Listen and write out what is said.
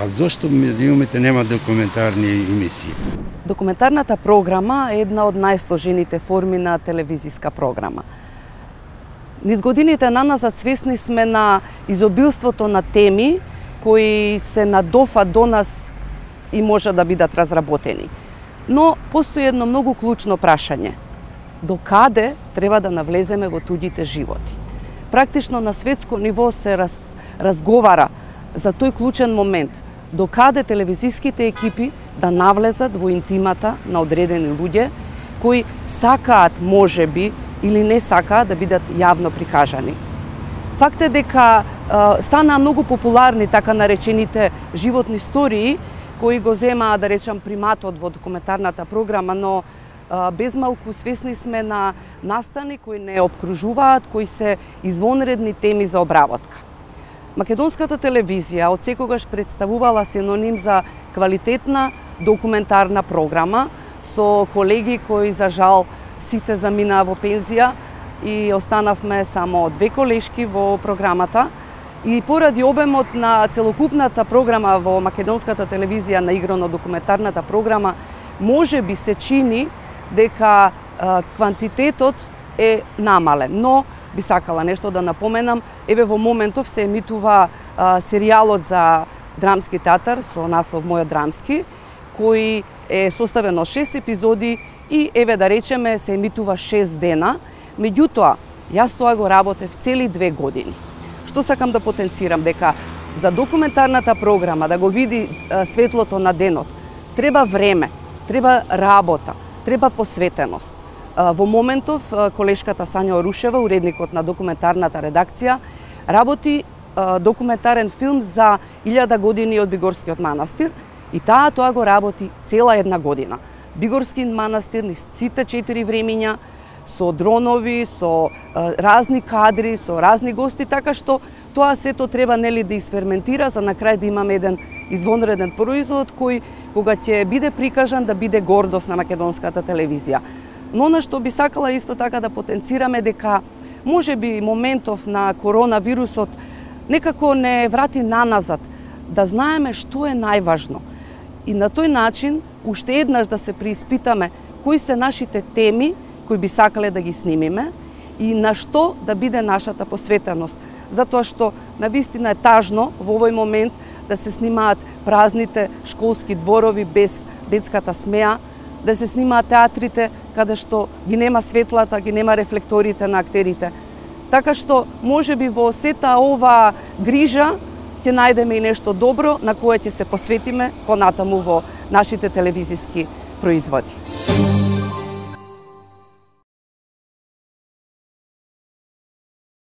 А зошто медиумите нема документарни емисии? Документарната програма е една од најсложените форми на телевизиска програма. Низ годините наназад свесни сме на изобилството на теми кои се надофат до нас и може да бидат разработени. Но постои едно многу клучно прашање. До каде треба да навлеземе во туѓите животи? Практично на светско ниво се разговара за тој клучен момент. До каде телевизиските екипи да навлезат во интимата на одредени луѓе кои сакаат можеби или не сакаат да бидат јавно прикажани. Факт е дека станаа многу популарни така наречените животни истории кои го земаа, да речам, приматот во документарната програма, но безмалку свесни сме на настани кои не обкружуваат, кои се извонредни теми за обработка. Македонската телевизија од секогаш представувала синоним за квалитетна документарна програма со колеги кои за жал сите заминаа во пензија и останавме само две колешки во програмата. И поради обемот на целокупната програма во македонската телевизија на играно документарната програма, може би се чини дека квантитетот е намален, но би сакала нешто да напоменам. Еве во моментов се емитува серијалот за драмски театар со наслов Мојот драмски, кој е составен од 6 епизоди и еве да речеме се емитува 6 дена. Меѓутоа, јас тоа го работев цели 2 години. Што сакам да потенцирам, дека за документарната програма да го види светлото на денот, треба време, треба работа, треба посветеност. Во моментов колешката Сања Орушева, уредникот на документарната редакција, работи документарен филм за 1000 години од Бигорскиот манастир и тоа го работи цела една година. Бигорски манастир низ сите 4 времиња, со дронови, со разни кадри, со разни гости, така што тоа сето треба нели да изферментира за на крај да имаме еден извонреден производ кој кога ќе биде прикажан да биде гордост на македонската телевизија. Но на што би сакала исто така да потенцираме дека можеби моментов на коронавирусот некако не врати наназад, да знаеме што е најважно. И на тој начин уште еднаш да се преиспитаме кои се нашите теми кои би сакале да ги снимиме и на што да биде нашата посветеност. Затоа што навистина е тажно во овој момент да се снимаат празните школски дворови без детската смеа, да се снимаат театрите каде што ги нема светлата, ги нема рефлекторите на актерите. Така што можеби во сета ова грижа ќе најдеме и нешто добро на кое ќе се посветиме понатаму во нашите телевизиски производи.